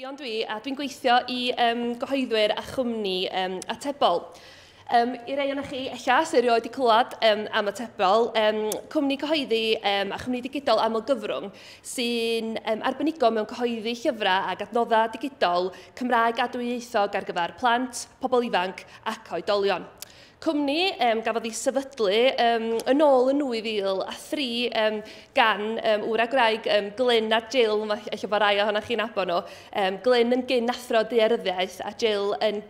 Ffion dwi, a dwi'n gweithio i gyhoeddwyr a chwmni Atebol. I rai ohonoch chi ella sydd erioed wedi clywed am Atebol, cwmni cyhoeddi a chwmni digidol amlgyfrwng sy'n arbenigo mewn cyhoeddi llyfrau ac adnoddau digidol Cymraeg a dwyieithog ar gyfer plant, pobl ifanc ac oedolion. Cwmni gafodd ei sefydlu yn ôl yn 2003 gan ŵr a gwraig Glyn a Jill, ella bod rai ohonoch chi'n nabod nhw. Glyn yn gyn athro daearyddiaeth a Jill yn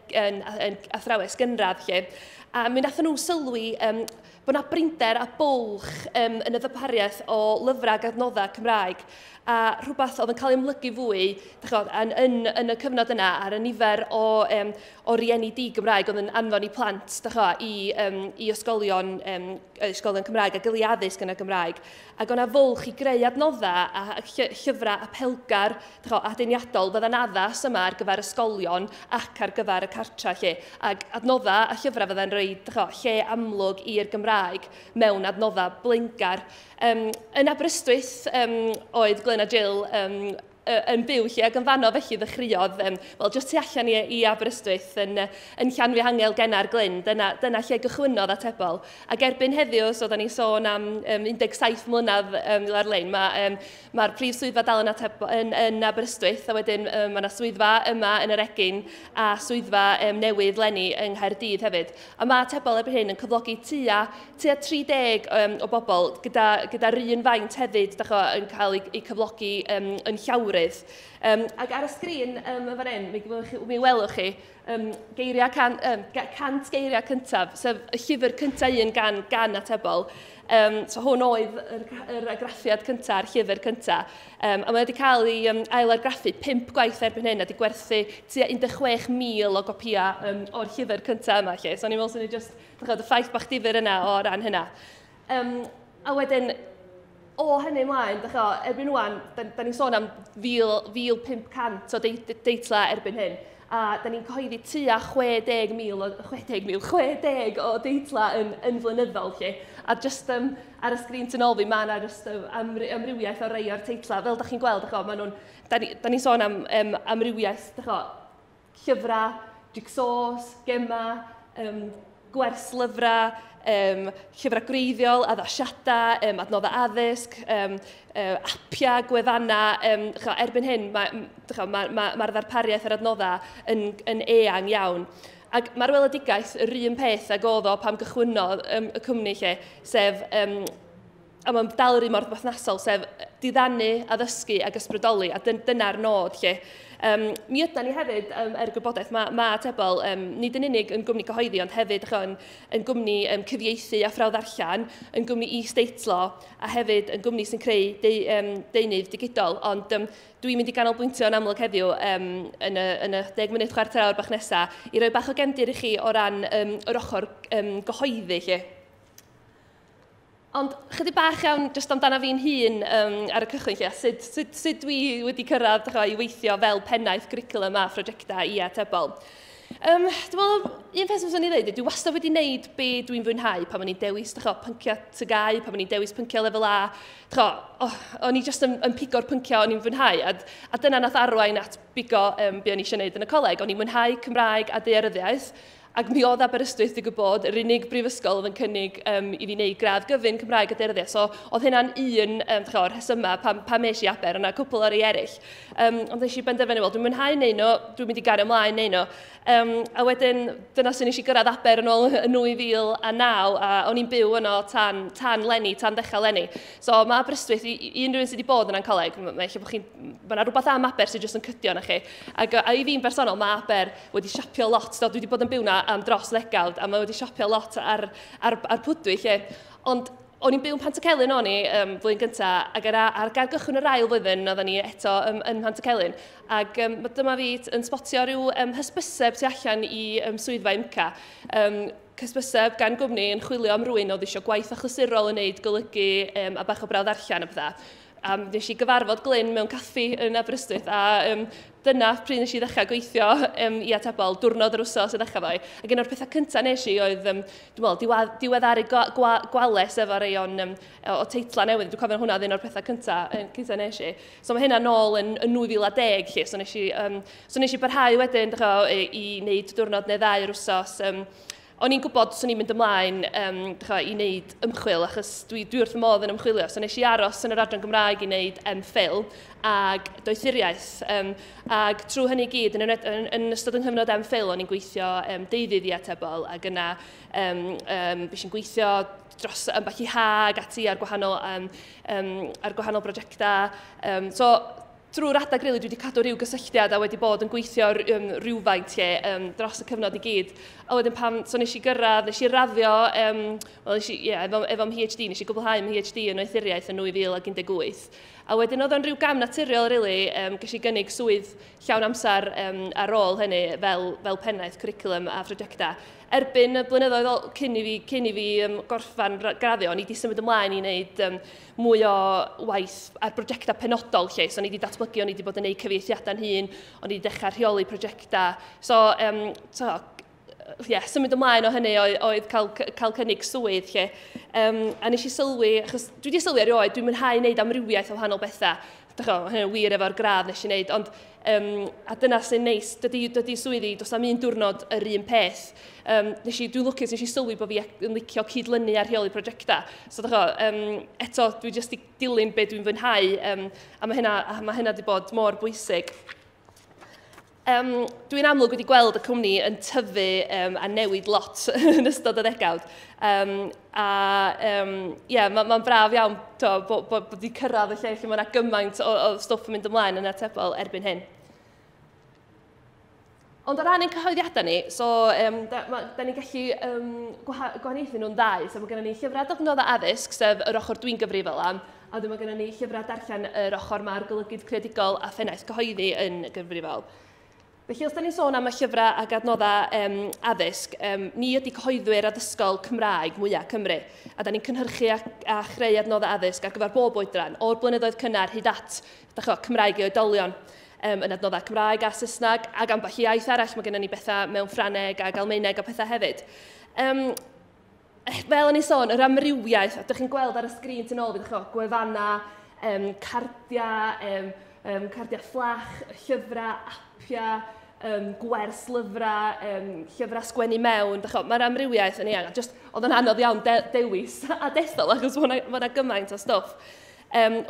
athrawes gynradd. Lle. A mi wnaethon nhw sylwi bod yna brinder a bwlch yn y ddarpariaeth o lyfrau ac adnoddau Cymraeg, a rhywbeth oedd yn cael ei amlygu fwy chod, yn y cyfnod yna ar y nifer o rieni di-Gymraeg oedd yn anfon i plant chod, i ysgolion Cymraeg a gael addysg yn y Gymraeg. Ac o'na fwlch i greu adnoddau a llyfrau apelgar chod, aduniadol fydda'n addas yma ar gyfer ysgolion ac ar gyfer y cartra. Lle. Ac adnoddau a llyfrau fydda'n rhoi chod, lle amlwg i'r Gymraeg mewn adnoddau blaengar. Yn Aberystwyth oedd Glyn a Jill yn byw lle, ac yn fanno felly ddechreuodd, wel, jyst tu allan i Aberystwyth yn Llanfihangel Genau'r Glyn, dyna lle gychwynnodd Atebol. Ac erbyn heddiw, so da ni'n sôn am 17 mlynedd ar-lein, mae'r prif swyddfa dal yn, Atebol, yn Aberystwyth, a wedyn mae yna swyddfa yma yn yr Egin a swyddfa newydd leni yng Nghaerdydd hefyd. A mae Atebol erbyn hyn yn cyflogi tua 30 o bobl gyda'r un faint hefyd dach, yn cael ei cyflogi yn llawrydd. Ac ar y sgrin yn fan hyn, mi welwch chi geiriau 100 geiriau cyntaf, sef y llyfr cyntaf un gan Atebol. So hwn oedd yr argraffiad cyntaf, yr llyfr cyntaf. A mae wedi cael ei ail-argraffu 5 gwaith erbyn hyn a wedi gwerthu tua 16,000 o gopïau o'r llyfr cyntaf yma. Lle. So o'n i'n meddwl sy'n ni just, chod, y ffaith bach difyr yna o ran hynna. A wedyn, o hynny ymlaen, dych chi, erbyn rwan, da ni'n sôn am 1,500 o deitla erbyn hyn. A da ni'n cyhoeddi tua 60,000 o, 60,000, 60 o deitla yn flynyddol. Lle. A just ar y sgrin tu nôl fi, mae yna just amrywiaeth o rei o'r teitla. Fel da chi'n gweld, dych chi, da ni'n sôn am amrywiaeth, dych chi, llyfrau, jigsaws, gema, gwerslyfrau, llyfrau gwreiddiol, addasiadau, adnoddau addysg, apiau, gwefannau. Erbyn hyn, mae'r ma ddarpariaeth yr adnoddau yn eang iawn. Ac mae'r weledigaeth yr un peth ag oedd o pam gychwynnodd y cwmni lle, sef, a mae'n dal yr un mor berthnasol, sef diddanu, addysgu ac ysbrydoli, a dyna'r nod lle. Mi ydan ni hefyd, er gwybodaeth, mae Atebol nid yn unig yn gwmni cyhoeddi, ond hefyd yn gwmni cyfieithu a phrawf-ddarllen, yn gwmni is-deitlo, a hefyd yn gwmni sy'n creu deunydd digidol. Ond dwi'n mynd i ganolbwyntio yn amlwg heddiw yn y 10 munud chwarter awr bach nesaf i roi bach o gefndir i chi o ran yr ochr gyhoeddi. Lle. Ond chydig bach iawn jyst amdano fi'n hun ar y cychwyn lle, sut dwi wedi cyrraedd chwa, i weithio fel pennaeth cwricwlwm a phrosiectau i Atebol. Dwi'n meddwl, un peth fyswn i ddweud, dwi wastad wedi wneud be dwi'n fwynhau pan o'n i'n dewis chwa, pynciau TGAU, pan o'n i'n dewis pynciau lefel A. Chwa, oh, o'n i just yn pigo'r pynciau o'n i'n fwynhau, a dyna nath arwain at bigo be o'n i eisiau gwneud yn y coleg. O'n i'n mwynhau Cymraeg a daearyddiaeth, ac mi oedd Aberystwyth, digwydd bod, yr unig brifysgol oedd yn cynnig i fi wneud gradd gyfun Cymraeg a daearyddiaeth. So oedd hynna'n un o'r rhesymau pam es i Aber, yna cwpl o'r rei eraill. Ond nes i benderfynu, wel, dwi'n mwynhau neud nhw, dwi'n mynd i gario ymlaen neud nhw. A wedyn, dyna sy'n nes i gyrraedd Aber yn ôl yn 2009, a o'n i'n byw yno tan leni, tan ddechrau leni. So mae Aberystwyth, i unrhyw un sydd wedi bod yna'n coleg, mae yna rhywbeth am Aber sydd jyst yn cydio na chi. Ac a i fi'n bersonol, mae Aber wedi siapio lot. So, dwi wedi bod yn byw na am dros ddegawd, a mae wedi siapio lot ar pwy dwi, lle. Ond o'n i'n byw yn Pantycelyn o'n i flwyddyn gyntaf, ac ar gychwyn yr ail flwyddyn oedden ni eto yn Pantycelyn. Ac dyma fi yn spotio rhyw hysbyseb tu allan i swyddfa UMCA. Hysbyseb gan gwmni yn chwilio am rywun oedd eisiau gwaith achlysurol yn neud golygu a bach o brawf ddarllen a pethau. A nes i gyfarfod Glyn mewn caffi yn Aberystwyth, a dyna pryd nes i ddechrau gweithio i Atebol, diwrnod yr wsos i ddechrau fo. Ac un o'r pethau cyntaf nes i oedd, dwi'n meddwl, diweddaru gwales efo rei o'n, o teitla newydd. Dwi'n cofio hwnna oedd un o'r pethau cyntaf nes i. So mae hynna nôl yn 2010, lle. So nes i barhau wedyn i, i wneud diwrnod neu ddau yr wsos. O'n i'n gwybod swn i'n mynd ymlaen i wneud ymchwil, achos dwi wrth y modd yn ymchwilio. So nes i aros yn yr adran Gymraeg i wneud MPhil ag doethuriaeth. Ag trwy hynny gyd, yn ystod yng nghyfnod MPhil, o'n i'n gweithio deuddydd i Atebol, ac yna bues i'n gweithio dros ambell i ha ag ati ar gwahanol brosiectau. So, drwy'r adag, really, dwi wedi cadw rhyw gysylltiad a wedi bod yn gweithio rhywfaint lle dros y cyfnod i gyd. A wedyn pan, so nes i gyrraedd, nes i raddio, well, nes i, yeah, efo PhD, nes i gwblhau PhD yn oethuriaeth yn 2018. A wedyn oedd o'n rhyw gam naturiol, really, ges i gynnig swydd llawn amser ar ôl hynny fel pennaeth cwricwlwm a phrosiectau. Erbyn y blynyddoedd cyn i fi gorffan graddio, o'n i wedi symud ymlaen i wneud mwy o waith ar brosiectau penodol lle. So, o'n i wedi datblygu, o'n i wedi bod yn gwneud cyfieithiadau'n hun, o'n i wedi dechrau rheoli prosiectau. So, yeah, symud ymlaen o hynny oedd cael cynnig swydd lle. A nes i sylwi, achos dwi wedi sylwi erioed, dwi'n mwynhau wneud amrywiaeth o wahanol bethau. Dych chi, hynny'n wir efo'r gradd nes i wneud, ond a dyna sy'n neis, dydy swyddi, does na'm un diwrnod yr un peth. Dwi'n lwcus, nes i sylwi bod fi yn licio cydlynu a rheoli prosiectau. So, dych chi, eto, dwi jyst i dilyn be dwi'n fwynhau, a mae hynna wedi bod mor bwysig. Dwi'n amlwg wedi gweld y cwmni yn tyfu a newid lot yn ystod y ddegawd. A yeah, mae'n braf iawn to, bod wedi cyrraedd y lle lle mae yna gymaint o stwff yn mynd ymlaen yn Atebol erbyn hyn. Ond o ran ein cyhoeddiadau ni, so da ni'n gallu gwahaniaethu nhw'n ddau. So mae gennym ni llyfrau adnoddau addysg, sef yr ochr dwi'n gyfrifol am, a wedyn mae gennym ni llyfrau darllen, yr ochr mae'r golygydd creadigol a phennaeth cyhoeddi yn gyfrifol. Felly, os da ni'n sôn am y llyfrau ac adnoddau addysg, ni ydy cyhoeddwyr addysgol Cymraeg mwyaf Cymru. A da ni'n cynhyrchu a chreu adnoddau addysg ar gyfer bob oedran, o'r blynyddoedd cynnar hyd at dach, Cymraeg i oedolion. Yn adnoddau Cymraeg a Saesneg, ac ambell i iaith arall, mae gennym ni bethau mewn Ffraneg ac Almaeneg a pethau hefyd. Fel o'n i sôn, yr amrywiaeth, a ydych chi'n gweld ar y sgrin tu ôl, fydd gwefanna, cardiau, cardiau fflach, llyfrau, apiau, gwers lyfrau, llyfrau sgwennu mewn. Mae'r amrywiaeth yn eang. Just, oedd yn anodd iawn dewis a dethol, achos mae yna gymaint o stwff.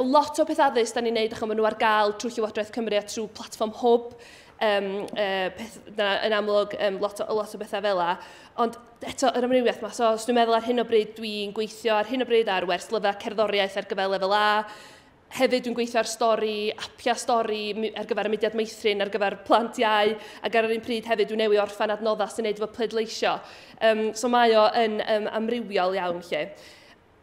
Lot o peth addysg da ni'n neud, achos maen nhw ar gael trwy Llywodraeth Cymru a trwy platfform Hwb. Peth, na, yn amlwg, lot o bethau fel 'na. Ond eto, yr amrywiaeth yma, so os dwi'n meddwl ar hyn o bryd, dwi'n gweithio ar hyn o bryd ar wers lyfrau cerddoriaeth ar gyfer lefel A. Hefyd dwi'n gweithio ar stori, apia stori ar gyfer y Mudiad Meithrin, ar gyfer plant iau, ac ar yr un pryd hefyd dwi'n newydd orffan adnoddau sy'n neud efo pleidleisio. So mae o yn amrywiol iawn lle.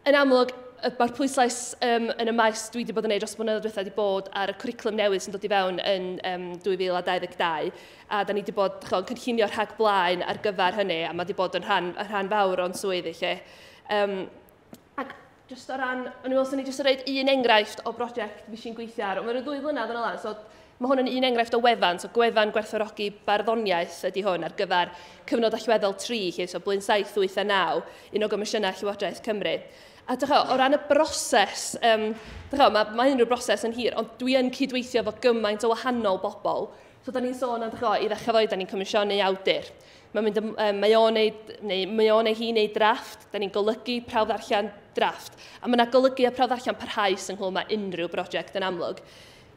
Yn amlwg, mae'r pwyslais yn y maes dwi wedi bod yn neud dros blynyddoedd diwethaf wedi bod ar y cwricwlwm newydd sy'n dod i fewn yn 2022, a da ni wedi bod ch'o, yn cynllunio rhag blaen ar gyfer hynny, a mae wedi bod yn rhan fawr o'n swyddi lle. Ac just o ran, o'n i'n meddwl swn i jyst yn rhoid un enghraifft o brosiect fi sy'n gweithio ar. Mae'n 2 flynedd yn ôl, so mae hwn yn un enghraifft o wefan, so gwefan gwerthfawrogi barddoniaeth ydy hwn ar gyfer cyfnod allweddol 3, lle, so blwyddyn 7, 8 a 9, un o gomisiynau Llywodraeth Cymru. A dych, o ran y broses, dych, mae unrhyw broses yn hir, ond dwi yn cydweithio efo gymaint o wahanol bobl. So, da ni'n sôn am, dych, i ddechrau fo, da ni'n comisiynu awdur. Mae'n mynd, mae o'n neud, neu mae o'n neu hi'n neud drafft, da ni'n golygu, prawf ddarllen, drafft. A mae yna golygu a prawf ddarllen parhaus ynghlwm â unrhyw brosiect yn amlwg.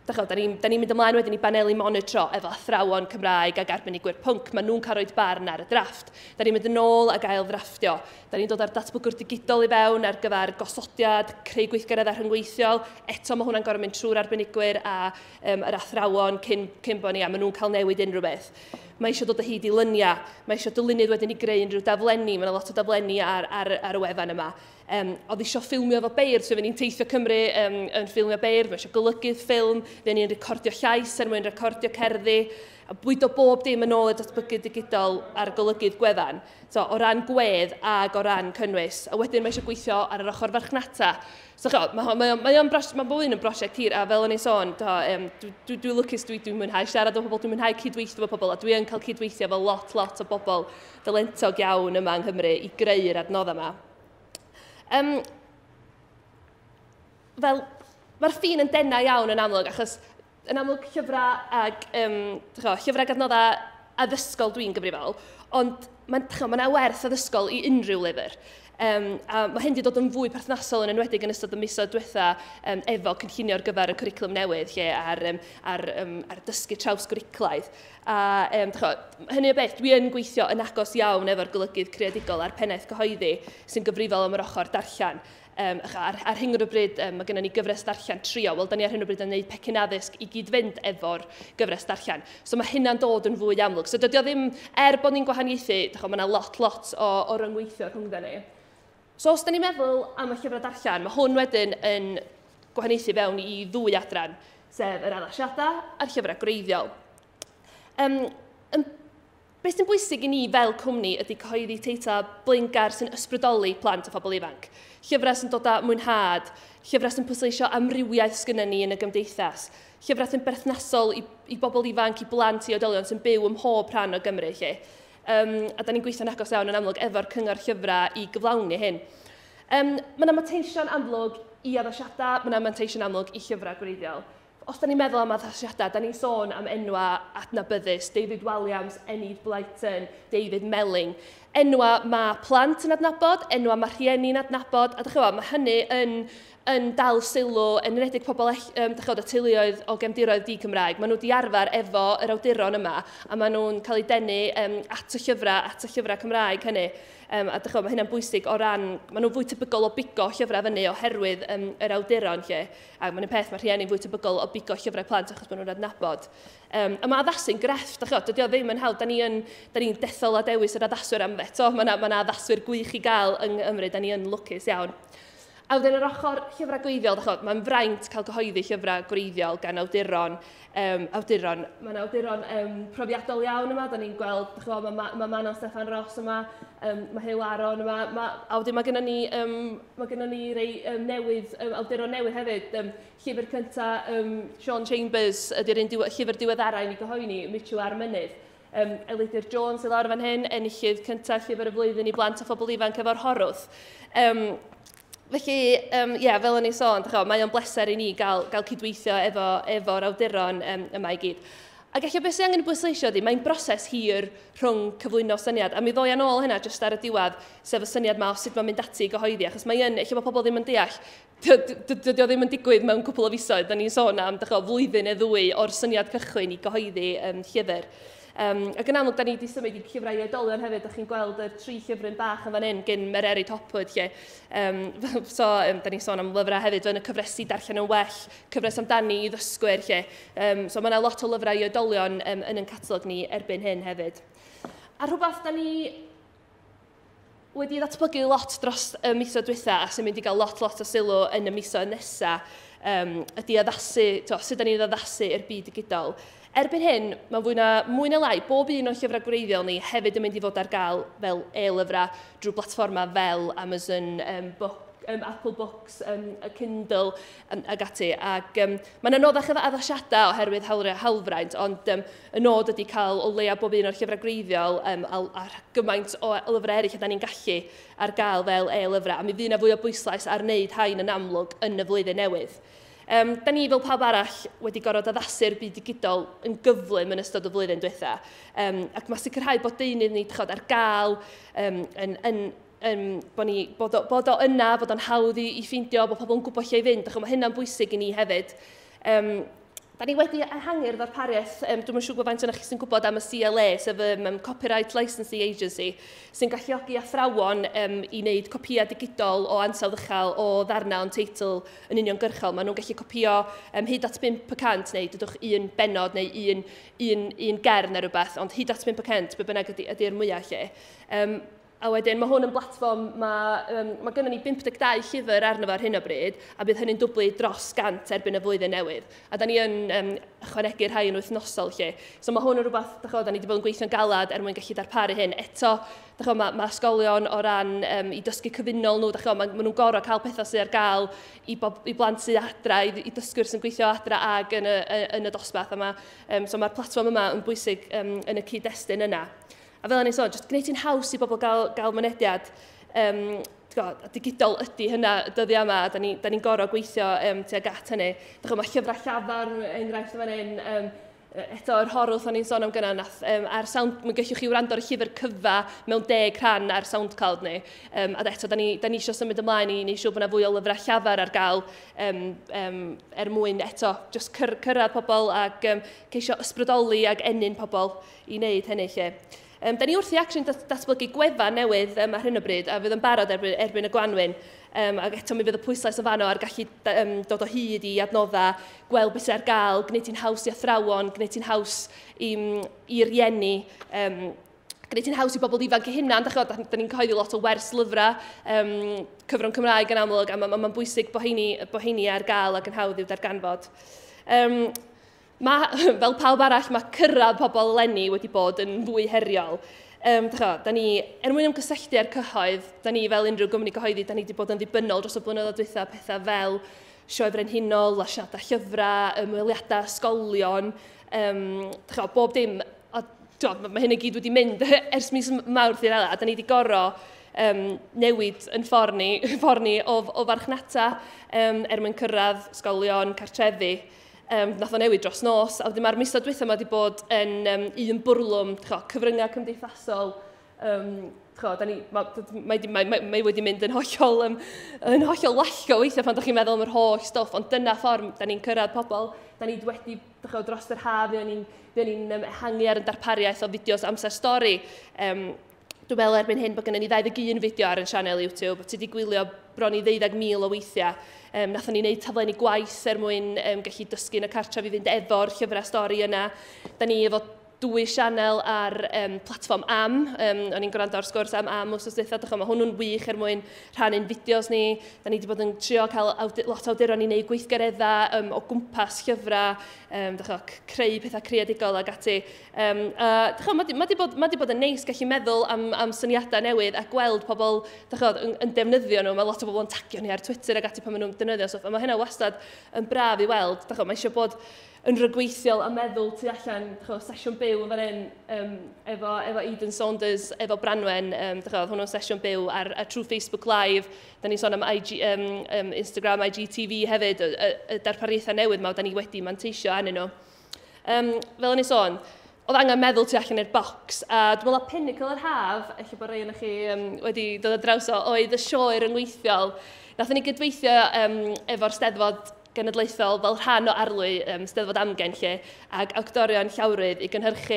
Dych, da ni mynd ymlaen wedyn i baneli monitro efo athrawon Cymraeg ac arbenigwyr pwnc. Maen nhw'n cael rhoi barn ar y drafft. Da ni'n mynd yn ôl ac ail ddrafftio. Da ni'n dod â'r datblygwr digidol i fewn ar gyfer gosodiad, creu gweithgareddau rhyngweithiol. Eto mae hwnna'n gorfod mynd trwy'r arbenigwyr a yr athrawon cyn bod ni, a maen nhw'n cael newid unrhyw beth. Mae eisiau dod o hyd i lyniau, mae eisiau dylunydd wedyn i greu unrhyw daflenni, mae yna lot o daflenni ar y wefan yma. Oedd eisiau ffilmio efo beirdd, so fe ni'n teithio Cymru yn ffilmio beirdd, mae eisiau golygydd ffilm, fe ni'n recordio llais er mwyn recordio cerddi. A bwydo bob dim yn ôl y datblygu digidol a'r golygydd gwefan. So, o ran gwedd ag o ran cynnwys. A wedyn mae eisiau gweithio ar yr ochr farchnata. So, mae bob un yn brosiect hir, a fel o'n i'n sôn, dwi lwcus, dwi'n mwynhau siarad o pobl, dwi'n mwynhau cydweithio efo pobl, a dwi yn cael cydweithio efo lot, lot o bobl dylentog iawn yma yng Nghymru i greu'r adnoddau yma. Fel, mae'r ffin yn denau iawn yn amlwg, achos yn amlwg llyfrau ag, llyfrau ag adnoddau addysgol dwi'n gyfrifol, ond mae yna werth addysgol i unrhyw lyfr. A mae hyn wedi dod yn fwy perthnasol yn enwedig yn ystod y misoedd diwetha efo cynllunio ar gyfer y cwricwlwm newydd lle ar dysgu trawsgwricwlaidd. A hynny o beth, dwi yn gweithio yn agos iawn efo'r golygydd creadigol a'r pennaeth cyhoeddi sy'n gyfrifol am yr ochr darllen. Ar hyn o bryd, mae gennym ni gyfres darllen trio. Wel, da ni ar hyn o bryd yn gwneud pecyn addysg i gyd-fynd efo'r gyfres darllen. So mae hynna'n dod yn fwy amlwg. So dydy o ddim, er bod ni'n gwahaniaethu, mae yna lot, lot o ryngweithio rhwngddo ni. So os da ni'n meddwl am y llyfrau darllen, mae hwn wedyn yn gwahaniaethu fewn i ddwy adran, sef yr addasiadau a'r llyfrau gwreiddiol. Beth sy'n bwysig i ni fel cwmni ydy cyhoeddi teitlau blaengar sy'n ysbrydoli plant a phobl ifanc. Llyfrau sy'n dod â mwynhad, llyfrau sy'n pwysleisio amrywiaeth sgynnon ni yn y gymdeithas, llyfrau sy'n berthnasol i bobl ifanc, i blant, i oedolion sy'n byw ym mhob rhan o Gymru. Lle. A da ni'n gweithio'n agos iawn yn amlwg efo'r cyngor llyfrau i gyflawni hyn. Mae yna manteision amlwg i addasiadau, mae yna manteision amlwg i llyfrau gwreiddiol. Os da ni'n meddwl am addasiadau, da ni'n sôn am enwa adnabyddus, David Walliams, Enid Blyton, David Melling. Enwa mae plant yn adnabod, enwa mae rhieni'n adnabod, a dych chi'n gwybod, mae hynny yn dal sylw, yn enwedig pobl y teuluoedd o gefndiroedd di-Cymraeg. Maen nhw wedi arfer efo yr awduron yma, a maen nhw'n cael eu denu at y llyfrau Cymraeg hynny. A dych chi'n gwybod, mae hynna'n bwysig o ran, maen nhw'n fwy tebygol o bigo llyfrau fyny oherwydd yr awduron lle. A mae'n peth, mae rhieni'n fwy tebygol o bigo llyfrau plant achos maen nhw'n adnabod. A mae addasu'n grefft, dych chi'n gwybod, dydy o ddim yn hawdd. Da ni'n dethol a dewis yr addaswyr am eto. Mae yna addaswyr gwych i gael yng Nghymru, da ni yn lwcus iawn. A wedyn yr ochr llyfrau gwreiddiol, mae'n fraint cael cyhoeddi llyfrau gwreiddiol gan awduron. Mae'n awduron profiadol iawn yma, da ni'n gweld, mae Manon Steffan Ros yma, mae Huw Aaron yma, a wedyn mae gennym ni rei newydd, awduron newydd hefyd. Llyfr cyntaf Sean Chambers ydy'r un llyfr diweddara i ni gyhoeddi, Mitchell a'r Mynydd. Elidir Jones sydd lawr fan hyn, enillydd cyntaf llyfr y flwyddyn i blant a phobl ifanc efo'r Horwth. Felly, fel o'n i'n sôn, mae o'n bleser i ni gael cydweithio efo'r awduron yma i gyd. Ac ella beth sy'n angen bwysleisio ydy, mae'n broses hir rhwng cyflwyno syniad. A mi ddoi yn ôl hynna jyst ar y diwedd, sef y syniad ma o sut mae'n mynd ati i gyhoeddi. Achos mae yn, ella bod pobl ddim yn deall, dydy o ddim yn digwydd mewn cwpl o fisoedd. Da ni'n sôn am flwyddyn neu ddwy o'r syniad cychwyn i gyhoeddi llyfr. Ac yn amlwg, da ni wedi symud i llyfrau i oedolion hefyd. Da chi'n gweld y tri llyfryn bach yn fan hyn gyn Mererid Hopwood. Lle. Da ni'n sôn am lyfrau hefyd yn y cyfresi Darllen yn Well, cyfres amdani i ddysgwyr. Lle. So mae yna lot o lyfrau i oedolion yn ein catalog ni erbyn hyn hefyd. A rhywbeth da ni wedi ddatblygu lot dros y misoedd diwetha a sy'n mynd i gael lot, lot o sylw yn y misoedd nesaf, ydy addasu, sut da ni'n addasu i'r byd digidol. Erbyn hyn, mae mwy na lai, bob un o'n llyfrau gwreiddiol ni hefyd yn mynd i fod ar gael fel e-lyfrau drwy blatfformau fel Amazon Book, Apple Books, Kindle ag ati. Ac mae'n anoddach efo addasiadau oherwydd hawlfraint, ond y nod ydy cael o leia bob un o'r llyfrau gwreiddiol a gymaint o lyfrau eraill a da ni'n gallu ar gael fel e-lyfrau. A mi fydd yna fwy o bwyslais ar wneud hain yn amlwg yn y flwyddyn newydd. Da ni fel pawb arall wedi gorfod addasu'r byd digidol yn gyflym yn ystod y flwyddyn diwetha. Ac mae sicrhau bod deunydd ni ar gael, bod o yna, bod o'n hawdd i ffeindio, bod pobl yn gwybod lle i fynd. Mae hynna'n bwysig i ni hefyd. Da ni wedi ehangu'r ddarpariaeth, dwi'm yn siŵr faint ohonoch chi sy'n gwybod am y CLA, sef Copyright Licensing Agency, sy'n galluogi athrawon i wneud copïau digidol o ansawdd uchel o ddarnau o'n teitl yn uniongyrchol. Maen nhw'n gallu copïo hyd at 5% neu dydwch un bennod neu un gern neu rhywbeth, ond hyd at 5% be bynnag ydy'r mwyaf lle. A wedyn mae hwn yn blatfform, mae gennym ni 52 llyfr arno fo ar hyn o bryd, a bydd hynny'n dwblu dros 100 erbyn y flwyddyn newydd. A da ni yn ychwanegu rhai yn wythnosol lle. So mae hwn yn rhywbeth, da ni wedi bod yn gweithio'n galad er mwyn gallu darparu hyn. Eto, mae ysgolion o ran i dysgu cyfunol nhw, ma nhw'n gorfod cael pethau sydd ar gael i blant sydd adra, i dysgwyr sy'n gweithio adra ag yn y dosbarth. A so mae'r platfform yma yn bwysig yn y cyd-destun yna. A fel o'n i'n sôn, jyst gwneud hi'n haws i bobl gael mynediad. Digidol ydy hynna dyddiau yma, da ni'n gorfod gweithio tuag at hynny. Mae llyfrau llafar, enghraifft fan hyn, eto yr Horwth o'n i'n sôn am gynna, nath, ar sound, mae gallwch chi wrando ar y llyfr cyfa mewn 10 rhan ar SoundCloud ni. A eto, da ni eisiau symud ymlaen i wneud siŵr bod yna fwy o lyfrau llafar ar gael er mwyn eto just cyrraedd pobl ac ceisio ysbrydoli ac ennyn pobl i wneud hynny lle. Da ni wrthi actually datblygu gwefan newydd ar hyn o bryd, a fydd yn barod erbyn y gwanwyn. Ac eto mi fydd y pwyslais o fanno ar gallu dod o hyd i adnoddau, gweld beth sydd ar gael, gwneud hi'n haws i athrawon, gwneud hi'n haws i rieni, gwneud hi'n haws i bobl ifanc eu hunan. Da ni'n cyhoeddi lot o wers lyfrau, cyfrwng Cymraeg yn amlwg, a mae'n bwysig bod heini ar gael ac yn hawdd i'w darganfod. Fel pawb arall, mae cyrraedd pobl eleni wedi bod yn fwy heriol. Da ni, er mwyn ymgysylltu â'r cyhoedd, da ni fel unrhyw gwmni cyhoeddi, da ni wedi bod yn ddibynnol dros y blynyddoedd dwytha, pethau fel Sioe Frenhinol, lansiadau llyfrau, ymweliadau ysgolion, bob dim. Mae hyn i gyd wedi mynd ers mis Mawrth i'r a da ni wedi gorfod newid yn ffordd ni o farchnata er mwyn cyrraedd ysgolion, cartrefi. Nath o newid dros nos, a wedyn mae'r misoedd dwytha yma wedi bod yn un bwrlwm, cyfryngau cymdeithasol, mae wedi mynd yn hollol wallgo weithiau pan ydych chi'n meddwl am yr holl stwff, ond dyna ffordd da ni'n cyrraedd pobl. Da ni wedi, dros yr haf, fuon ni'n ehangu ar y darpariaeth o fideos amser stori. Dwi'n meddwl erbyn hyn bod gennym ni 21 fideo ar ein sianel YouTube, ti wedi gwylio bron i 12,000 o weithiau. Nathon ni wneud taflenni gwaith er mwyn gallu dysgu yn y cartref i fynd efo'r llyfrau stori yna. Da ni efo 2 sianel ar platfform AM. O'n i'n gwrando ar sgwrs am AM wsos dwytha. Mae hwnnw'n wych er mwyn rhannu'n fideos ni. Da ni wedi bod yn trio cael lot o awduron i wneud gweithgareddau o gwmpas llyfrau, creu pethau creadigol ac ati. Mae wedi bod yn neis gallu meddwl am syniadau newydd a gweld pobl yn defnyddio nhw. Mae lot o bobl yn tagio ni ar Twitter ac ati pan maen nhw'n defnyddio stwff. A mae hynna wastad yn braf i weld. Mae eisiau bod yn rhagweithiol a meddwl tu allan, sesiwn byw fan hyn, efo Eden Saunders, efo Branwen, oedd hwnnw'n sesiwn byw ar trwy Facebook Live. Da ni'n sôn am IG, Instagram, IGTV hefyd, y darpariaethau newydd ma, da ni wedi manteisio arnyn nhw. Fel o'n i'n sôn, oedd angen meddwl tu allan i'r bocs, a dwi'n meddwl a pinnacle yr haf, ella bod rhai ohonoch chi wedi dod ar draws o, oedd y sioe ryngweithiol. Nathon ni gydweithio efo'r Steddfod Genedlaethol fel rhan o arlwy Steddfod Amgen lle, ac actorion llawrydd i gynhyrchu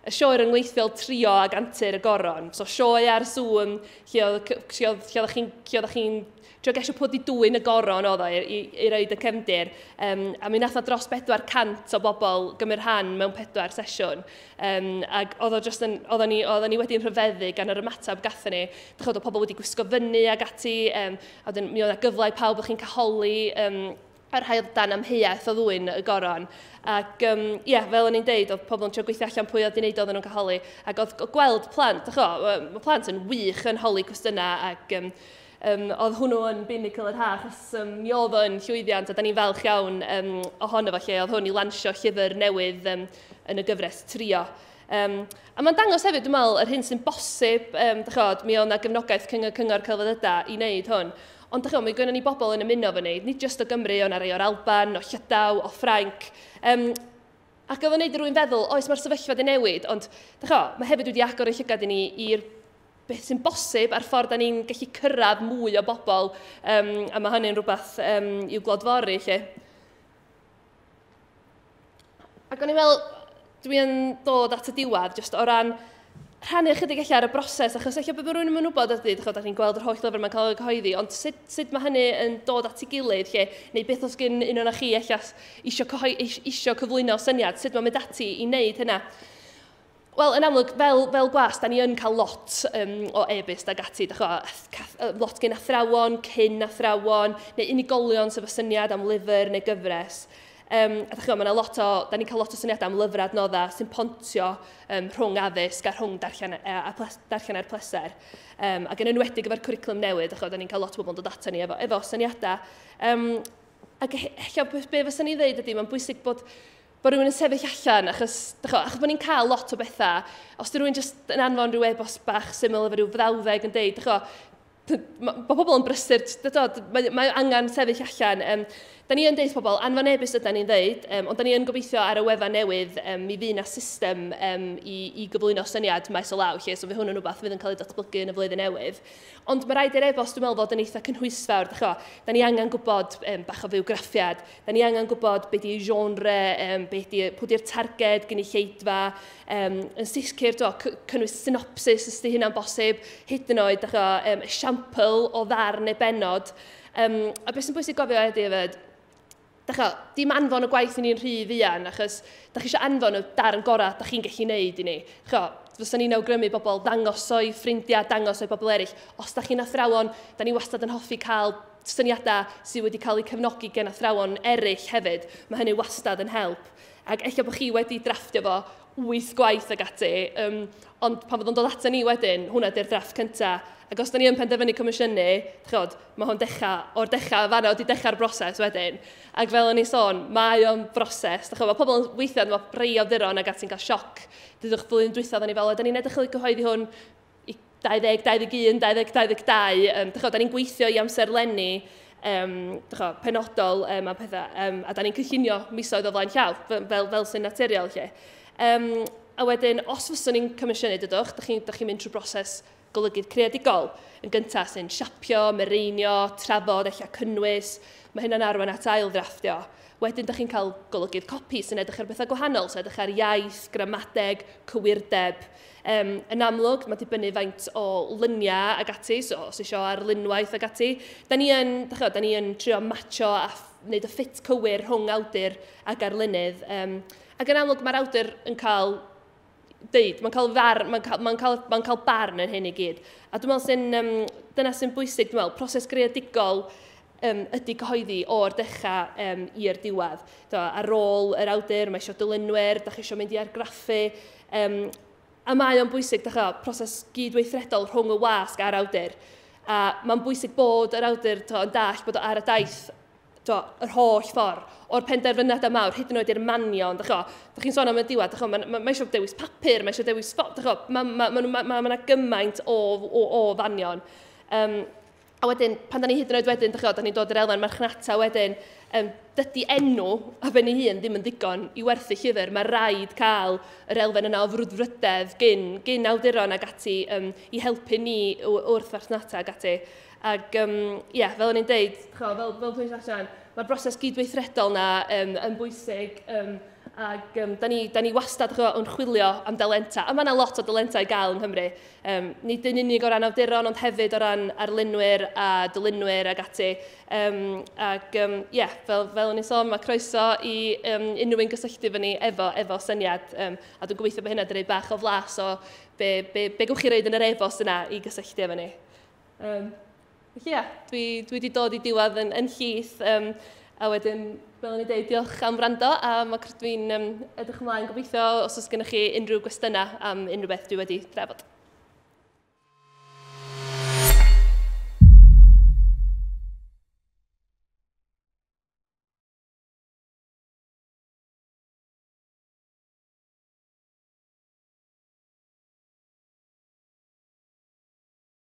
y sioe ryngweithiol Trio ag Antur y Goron. So sioe ar Zoom lle oeddech chi'n trio gesio pwy di dwyn y goron oedd o i roed y cefndir. A mi nath o dros 400 o bobl gymryd rhan mewn 4 sesiwn. Ac oedd o just yn, oedden ni wedi'n rhyfeddu gan yr ymateb gathon ni. Dych chi'n pobl wedi gwisgo fyny ag ati, a wedyn mi oedd 'na gyfle i pawb o'ch chi'n cael holi, a'r rhai oedd dan amheuaeth o ddwyn y goron. Ac ie, fel o'n i'n deud, oedd pobl yn trio gweithio allan pwy oedd wedi wneud oedden nhw'n cael holi. Ac oedd gweld plant, mae plant yn wych yn holi cwestiynau, ac oedd hwnnw yn pinnacle yr ha, achos mi oedd o'n llwyddiant, a da ni'n falch iawn ohono fo lle, oedd hwn i lansio llyfr newydd yn y gyfres Trio. A mae'n dangos hefyd, dwi'n meddwl, yr hyn sy'n bosib, mi oedd 'na gefnogaeth Cyngor Celfyddydau i wneud hwn. Ond mae gynnon ni bobl yn ymuno fo ni, nid jyst o Gymru, ond rhai o'r Alban, o Llydaw, o Ffrainc. Ac oedd o'n neud i rywun feddwl, oes, mae'r sefyllfa wedi newid, ond mae hefyd wedi agor y llygad i ni i'r beth sy'n bosib a'r ffordd da ni'n gallu cyrraedd mwy o bobl, a mae hynny'n rhywbeth i'w glodfori, lle. Ac o'n i'n meddwl, dwi'n dod at y diwedd, jyst o ran rhannu ychydig ella ar y broses, achos ella bod rhywun yn wybod ydy, da ni'n gweld yr holl lyfr mae'n cael ei cyhoeddi, ond sut mae hynny yn dod at ei gilydd, lle, neu beth os gen un o'n chi ella isio cyflwyno syniad, sut mae'n mynd ati i wneud hynna. Wel, yn amlwg, fel gwas, da ni yn cael lot o e-byst ag ati, lot gen athrawon, cyn athrawon, neu unigolion sydd efo syniad am lyfr neu gyfres. A dach chi'n gwbod, da ni'n cael lot o syniadau am lyfrau adnoddau sy'n pontio rhwng addysg a rhwng darllen, a darllen er pleser. Ac yn enwedig efo'r cwricwlwm newydd, dach chi'n, da ni'n cael lot o bobl yn dod ato ni efo syniadau. Ac ella be fyswn i'n dweud ydy, mae'n bwysig bod rhywun yn sefyll allan, achos bod ni'n cael lot o bethau. Os di rhywun jyst yn anfon rhyw e-bost bach syml efo rhyw frawddeg yn deud, dych bod pobl yn brysur, mae angen sefyll allan. Da ni yn deud pobl, anfon e-byst yda ni'n dweud, ond da ni yn gobeithio ar y wefan newydd mi fydd na system i gyflwyno syniad maes o law, lle, so fydd hwn yn rhywbeth fydd yn cael ei datblygu yn y flwyddyn newydd. Ond mae rhaid i'r e-bost, dwi'n meddwl, fod yn eitha cynhwysfawr. Dach chi'bo, da ni angen gwybod bach o fywgraffiad, da ni angen gwybod beth di genre, pwy di'r targed gynulleidfa, yn sicr, do, cynnwys synopsis os di hynna'n bosib, hyd yn oed, dach chi'bo, esiampl o ddarn neu benod. A beth sy'n bwysig gofio ydy hefyd, dach chi'bo, dim anfon y gwaith i ni'n rhy fuan, achos dach chi eisiau anfon y darn gorau dach chi'n gallu neud i ni. Dach chi'bo, fysa ni'n awgrymu bobl dangos o'i ffrindiau, dangos o'i bobl eraill. Os dach chi'n athrawon, da ni wastad yn hoffi cael syniadau sydd wedi cael eu cefnogi gen athrawon eraill hefyd. Mae hynny wastad yn help. Ac ella bod chi wedi drafftio fo wyth gwaith ag ati, ond pan fydd o'n dod ato ni wedyn, hwnna di'r drafft cyntaf. Ac os da ni yn penderfynu comisiynu, chod, mae hwn dechrau, o'r dechrau, fanna, wedi dechrau'r broses wedyn. Ac fel o'n i sôn, mae o'n broses. Dach, mae pobl yn weithiau, mae rhai awduron ag ati'n cael sioc. Dydwch flwyddyn dwytha, ni fel, da ni'n edrych i gyhoeddi hwn i 20, 21, 20, 22. Dach, da ni'n gweithio i amserlenni dach, penodol a pethau, a da ni'n cynllunio misoedd o flaen llaw, fel sy'n naturiol lle. A wedyn, os fyswn ni'n comisiynu, dydwch, dach chi mynd trwy broses golygydd creadigol. Yn gyntaf sy'n siapio, mireinio, trafod, eich cynnwys. Mae hynna'n arwain at ail ddrafftio. Wedyn, dych chi'n cael golygydd copi sy'n edrych ar bethau gwahanol, sy'n edrych ar iaith, gramadeg, cywirdeb. Yn amlwg, mae dibynnu faint o luniau ag ati, so os eisiau arlunwaith ag ati. Da ni yn trio matcho a wneud y ffit cywir rhwng awdur ag arlunydd. Ac yn amlwg, mae'r awdur yn cael deud, mae'n cael barn yn hyn i gyd. A dwi'n meddwl dyna sy'n bwysig, dwi'n meddwl, proses greadigol ydy cyhoeddi o'r dechrau i'r diwedd. Do, ar ôl yr awdur, mae eisiau dylunwyr, da chi eisiau mynd i argraffu. A mae o'n bwysig, dach chi'bo, proses gydweithredol rhwng y wasg a'r awdur. A mae'n bwysig bod yr awdur to, yn dall bod o ar y daith to, yr holl ffordd, o'r penderfyniadau mawr, hyd yn oed i'r manion, dach chi'bo, dach chi'n sôn am y diwedd, dach chi'bo, mae ma, ma eisiau dewis papur, mae eisiau dewis ffot, dach chi'bo, ma gymaint o fanion. A wedyn, pan da ni hyd yn oed wedyn, dach chi'bo, da ni'n dod i'r elfen marchnata wedyn, dydy enw a ben ei hun ddim yn ddigon i werthu llyfr. Mae rhaid cael yr elfen yna o frwdfrydedd gyn awduron ag ati i helpu ni wrth farchnata ag ati. Ac, yeah, fel o'n i'n deud, ch'o, fel dwi'n allan, mae'r broses gydweithredol na yn bwysig. Ac da ni wastad ch'o, yn chwilio am dalenta. A mae yna lot o dalenta i gael yng Nghymru. Nid yn unig o ran awduron, ond hefyd o ran arlunwyr a dylunwyr ag ati. Ac yeah, fel o'n i'n sôn, mae croeso i unrhyw un gysylltu fyny efo syniad. A dwi'n gobeithio bod hynna wedi rhoi bach o flas o be gewch chi roid yn yr e-bost yna i gysylltu efo ni. Felly ie, dwi wedi dod i diwedd yn llith. A wedyn, fel o'n i'n dweud, diolch am wrando, a mae dwi'n edrych ymlaen gobeithio os oes gennych chi unrhyw gwestiynau am unrhyw beth dwi wedi drafod.